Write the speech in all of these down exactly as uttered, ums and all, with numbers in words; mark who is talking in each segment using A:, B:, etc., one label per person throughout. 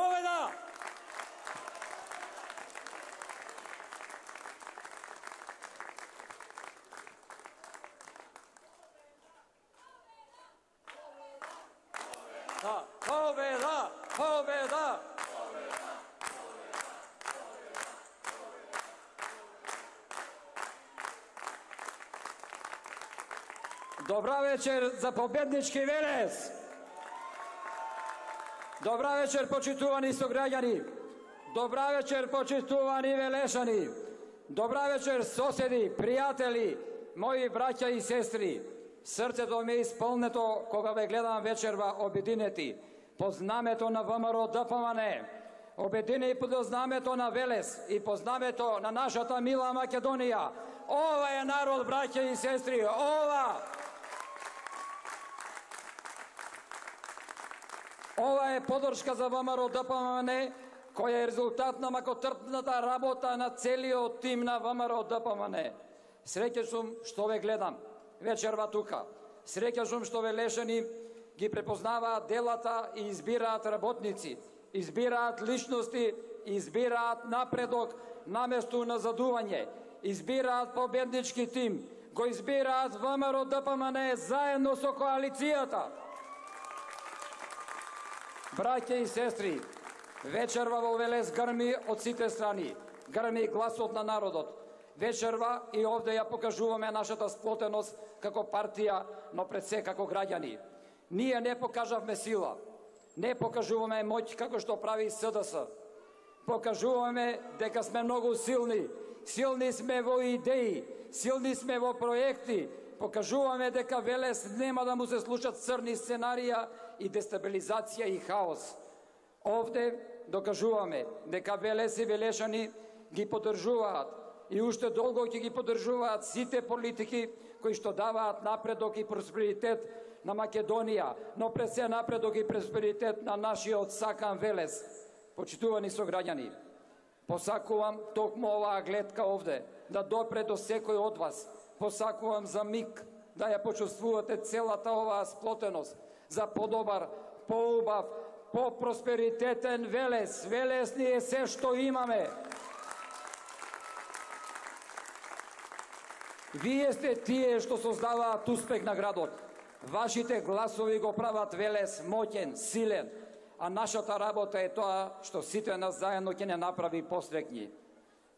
A: Победа! Да, победа! Победа! Добра вечер за победнички Велес! Добра вечер, почитувани сограѓани! Добра вечер, почитувани велешани! Добра вечер, соседи, пријатели, мои браќа и сестри! Срцето ми е исполнето кога ве гледам вечерва обединети по знамето на ВМРО ДПМН, обединети по знамето на Велес и по знамето на нашата мила Македонија. Ова е народ, браќа и сестри, ова! Ова е подршка за ВМРО ДПМН, која е резултат на макотрпната работа на целиот тим на ВМРО ДПМН. Среќен сум што ве гледам вечерва тука. Среќен сум што велешани ги препознаваат делата и избираат работници, избираат личности, избираат напредок наместо назадување, избираат победнички тим, го избираат ВМРО ДПМН заедно со коалицијата. Браќа и сестри, вечерва во Велес грми од сите страни, грми гласот на народот. Вечерва и овде ја покажуваме нашата сплотеност како партија, но пред се како граѓани. Ние не покажавме сила, не покажуваме моќ како што прави СДС. Покажуваме дека сме многу силни, силни сме во идеи, силни сме во проекти, покажуваме дека Велес нема да му се случат црни сценарија и дестабилизација и хаос. Овде докажуваме дека Велес и велешани ги поддржуваат и уште долго ќе ги поддржуваат сите политики кои што даваат напредок и просперитет на Македонија, но пред се напредок и просперитет на нашиот сакан Велес. Почитувани сограѓани, посакувам токму оваа гледка овде да допре до секој од вас. Посакувам за миг да ја почувствувате целата оваа сплотеност за подобар, поубав, по-просперитетен Велес. Велес ни е се што имаме. Вие сте тие што создаваат успех на градот. Вашите гласови го прават Велес моќен, силен, а нашата работа е тоа што сите нас заедно ќе не направи посрекни.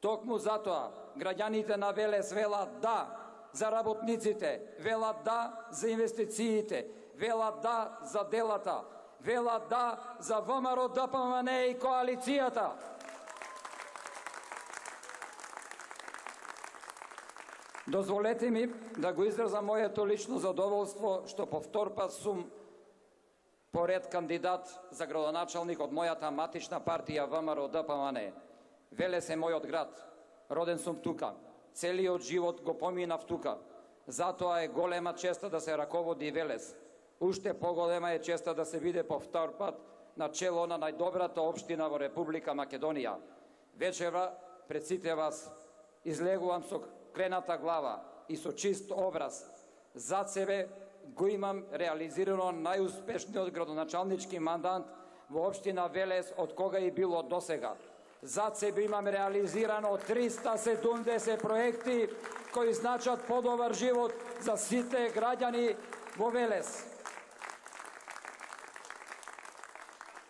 A: Токму затоа граѓаните на Велес велат да за работниците, велат да за инвестициите, велат да за делата, велат да за ВМРО ДПМН и коалицијата. Дозволете ми да го изразам моето лично задоволство што повтор пат сум поред кандидат за градоначалник од мојата матична партија ВМРО ДПМН. Велес е мојот град, роден сум тука, целиот живот го поминав тука. Затоа е голема честа да се раководи Велес. Уште поголема е честа да се биде повтор пат на чело на најдобрата општина во Република Македонија. Вечерва пред сите вас излегувам со крената глава и со чист образ. Зад себе го имам реализирано најуспешниот градоначалнички мандат во општина Велес од кога и било досега. Зад себе имам реализирано триста седумдесет проекти кои значат подобар живот за сите граѓани во Велес.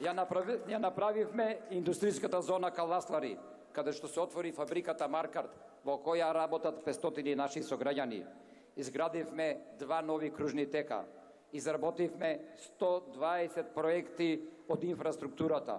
A: Ја, направи, ја направивме индустријската зона Каласлари, каде што се отвори фабриката Маркарт, во која работат петстотини наши сограѓани. Изградивме два нови кружни тека. Изработивме сто дваесет проекти од инфраструктурата.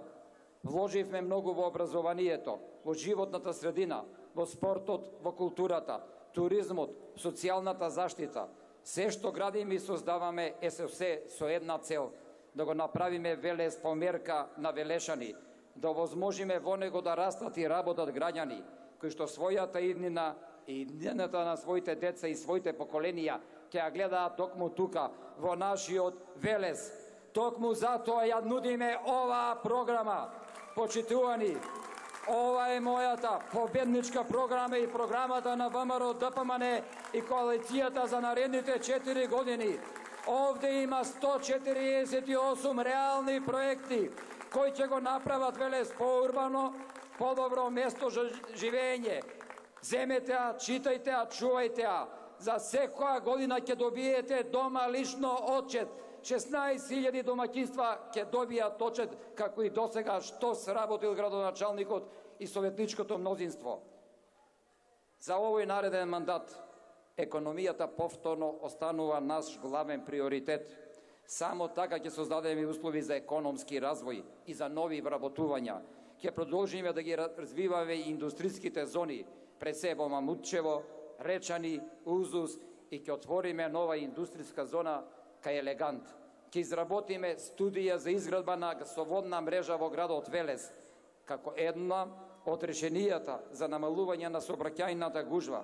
A: Вложивме многу во образованието, во животната средина, во спортот, во културата, туризмот, социјалната заштита. Се што градиме и создаваме е со се со една цел – да го направиме Велес померка на велешани, да овозможиме во него да растат и работат граѓани, кои што својата иднина и иднината на своите деца и своите поколенија ќе ја гледаат токму тука, во нашиот Велес. Токму затоа ја нудиме оваа програма. Почитувани, ова е мојата победничка програма и програмата на ВМРО ДПМН и коалицијата за наредните четири години. Овде има сто четириесет и осум реални проекти кои ќе го направат Велес поурбано, подобро место за живење. Земете ја, читајте ја, чувајте ја. За секоја година ќе добиете дома лично отчет. шеснаесет илјади домаќинства ќе добијат отчет, како и досега што сработил градоначалникот и советничкото мнозинство. За овој нареден мандат економијата повторно останува наш главен приоритет. Само така ќе создадеме услови за економски развој и за нови вработувања. Ќе продолжиме да ги развиваме индустриските зони, пред се во Мамутчево, Речани, Узус, и ќе отвориме нова индустријска зона кај Елегант. Ќе изработиме студија за изградба на гасоводна мрежа во градот Велес, како една од решенијата за намалување на сообраќајната гужва.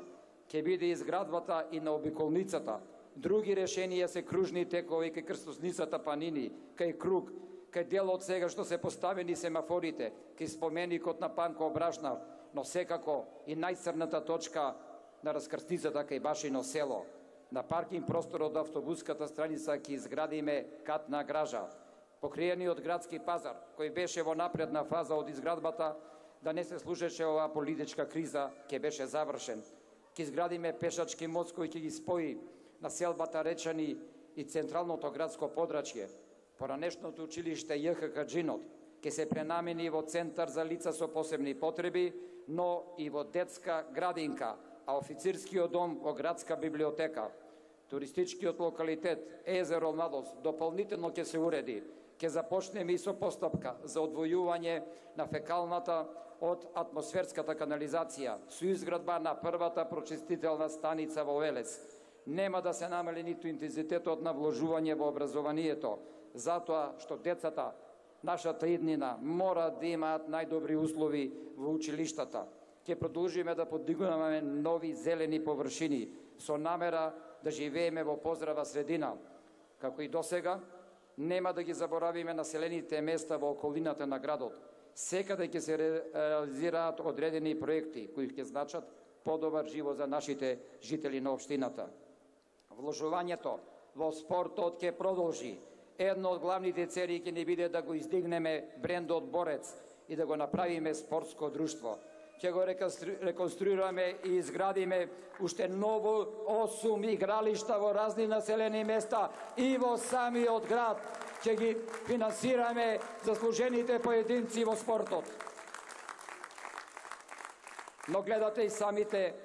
A: Ќе биде изградбата и на обиколницата. Други решенија се кружни текови кај крстосницата Панини, кај Круг, кај дел од сега што се поставени семафорите, кај споменикот на Панко Брашнав, но секако и најцрната точка на раскрстицата кај Башино село. На паркинг просторот од автобуската страница ќе изградиме катна гража. Покриениот градски пазар, кој беше во напредна фаза од изградбата, да не се слушаше оваа политичка криза, ќе беше завршен. Ќе изградиме пешачки мост кој ќе ги спои населбата Речани и централното градско подрачје. Поранешното училиште Ј Х Каџинот ќе се пренамени во центар за лица со посебни потреби, но и во детска градинка, а официрскиот дом во градска библиотека. Туристичкиот локалитет Езеро Младост дополнително ќе се уреди. Ќе започнеме и со постапка за одвојување на фекалната од атмосферската канализација со изградба на првата прочистителна станица во Велес. Нема да се намали ниту интензитетот на вложување во образованието, затоа што децата, нашата иднина, мора да имаат најдобри услови во училиштата. Ќе продолжиме да подигнуваме нови зелени површини со намера да живееме во поздрава средина. Како и досега, нема да ги заборавиме населените места во околината на градот. Секаде ќе се реализираат одредени проекти кои ќе значат подобар живот за нашите жители на општината. Вложувањето во спортот ќе продолжи. Едно од главните цели ќе ни биде да го издигнеме брендот Борец и да го направиме спортско друштво. Ќе го реконструираме и изградиме уште ново осум игралишта во разни населени места и во самиот град. Ќе ги финансираме заслужените поединци во спортот. Но гледате и самите,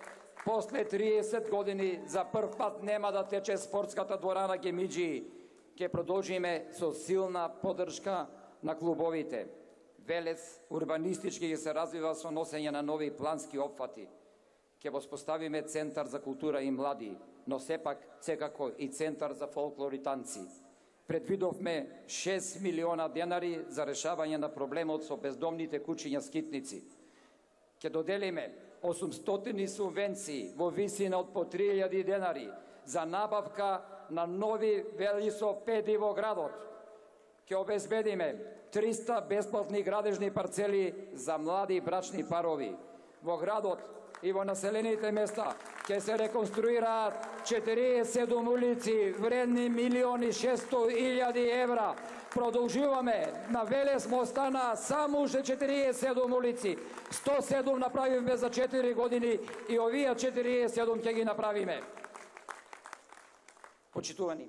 A: после триесет години за прв пат нема да тече спортската дворана Гемиџии. Ќе продолжиме со силна поддршка на клубовите. Велес урбанистички ќе се развива со носење на нови плански опфати. Ќе воспоставиме центар за култура и млади, но сепак секако и центар за фолклор и танци. Предвидовме шест милиона денари за решавање на проблемот со бездомните кучиња скитници. Ќе доделиме осумстотини субвенции во висина од по три илјади денари за набавка на нови велосипеди во градот. Ќе обезбедиме триста бесплатни градежни парцели за млади брачни парови. Во градот и во населените места ќе се реконструираат четириесет и седум улици вредни милиони шесто илјади евра. Продолжуваме, на Велес му остана само уште четириесет и седум улици. сто и седум направивме за четири години и овие четириесет и седум ќе ги направиме. Почитувани,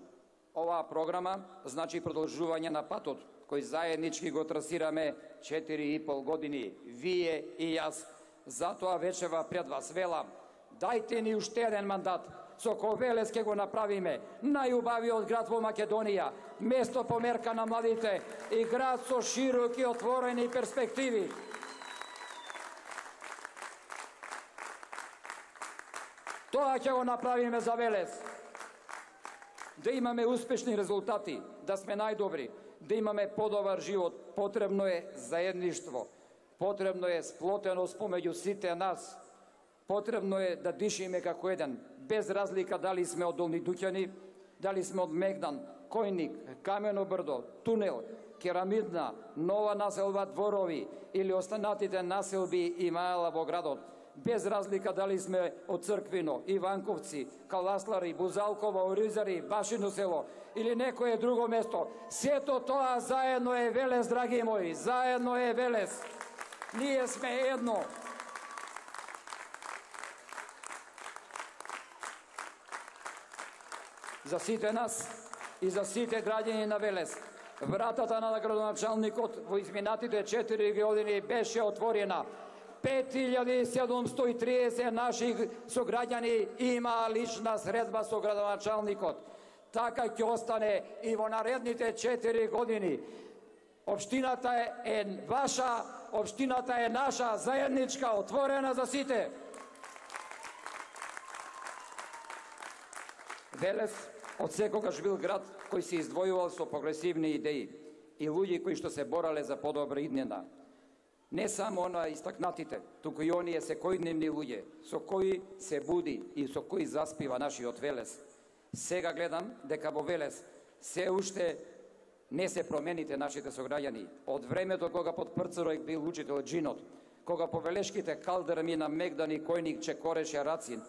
A: оваа програма значи продолжување на патот кој заеднички го трасираме четири и пол години, вие и јас. Затоа вечева пред вас велам, дајте ни уште еден мандат, со кој Велес ќе го направиме најубавиот град во Македонија, место померка на младите и град со широки отворени перспективи. Тоа ќе го направиме за Велес. Да имаме успешни резултати, да сме најдобри, да имаме подобар живот, потребно е заедништво, потребно е сплотеност помеѓу сите нас, потребно е да дишиме како еден, без разлика дали сме од Долни Дуќани, дали сме од Мегдан, Којник, Камено брдо, Тунел, Керамидна, Нова населба Дворови или останатите населби и маела во градот. без разлика дали сме од Црквино, Иванковци, Каласлари, Бузалково, Оризари, Башино село или некое друго место. Сето тоа заедно е Велес, драги мои, заедно е Велес. Ние сме едно. За сите нас и за сите граѓани на Велес, вратата на градоначалникот во изминатите четири години беше отворена. пет илјади седумсто и триесет наши сограѓани има лична средба со градоначалникот. Така ќе остане и во наредните четири години. Општината е, е ваша, општината е наша, заедничка, отворена за сите. Велес од секогаш бил град кој се издвојувал со прогресивни идеи и луѓе кои што се борале за подобра иднина. Не само на истакнатите, туку и оние секојдневни луѓе со кои се буди и со кои заспива нашиот Велес. Сега гледам дека во Велес се уште не се промените нашите сограѓани. Од времето кога под Прцарој бил учител Джинот, кога по Велешките калдерми на Мегдани којник чекореше Рацин,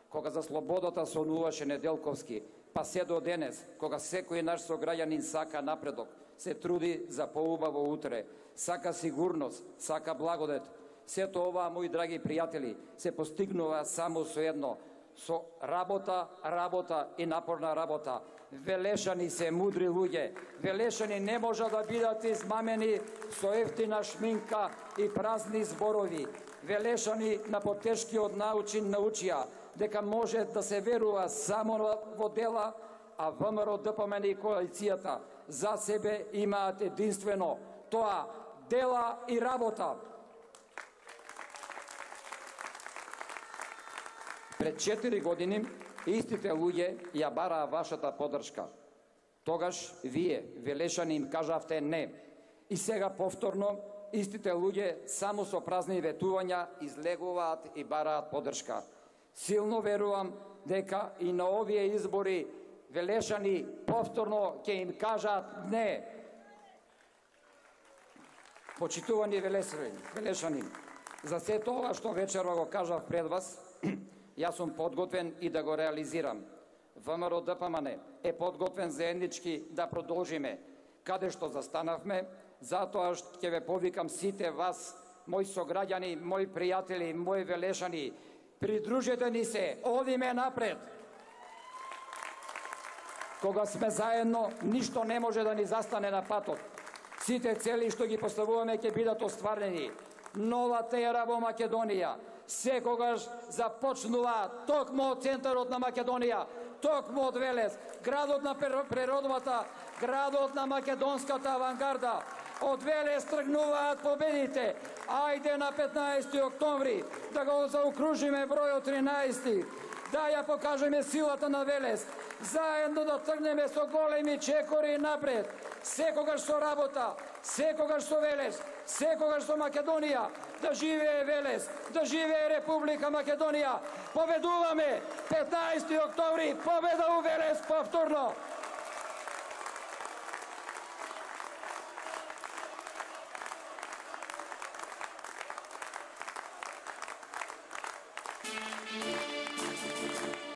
A: кога за слободата сонуваше Неделковски, па се до денес, кога секој наш сограѓанин сака напредок, се труди за поубаво утре, сака сигурност, сака благодет. Сето ова, мои драги пријатели, се постигнува само со едно, со работа, работа и напорна работа. Велешани се мудри луѓе. Велешани не може да бидат измамени со ефтина шминка и празни зборови. Велешани на потешкиот начин научија дека може да се верува само во дела, а ВМРО, ДПМН и коалицијата за себе имаат единствено тоа дела и работа. Пред четири години истите луѓе ја бараа вашата поддршка. Тогаш вие, Велешани, им кажавте не. И сега повторно истите луѓе само со празни ветувања излегуваат и бараат поддршка. Силно верувам дека и на овие избори Велешани повторно ќе им кажат не. Почитувани Велешани, за се тоа што вечерва го кажав пред вас, јас сум подготвен и да го реализирам. ВМРО ДПМН е подготвен заеднички да продолжиме каде што застанавме, затоа што ќе ве повикам сите вас, мои сограѓани, мои пријатели, мои Велешани, придружете ни се, одиме напред. Кога сме заедно, ништо не може да ни застане на патот. Сите цели што ги поставуваме ќе бидат остварени. Новата ера во Македонија секогаш започнува токму од центарот на Македонија, токму од Велес, градот на природата, градот на македонската авангарда. Од Велес тргнуваат победите. Ајде на петнаесети октомври да го заокружиме бројот тринаесет. Да ја покажеме силата на Велес. Заедно да тргнеме со големи чекори напред. Секогаш со работа, секогаш со Велес, секогаш со Македонија. Да живее Велес, да живее Република Македонија. Победуваме! петнаесети октомври, победа у Велес повторно!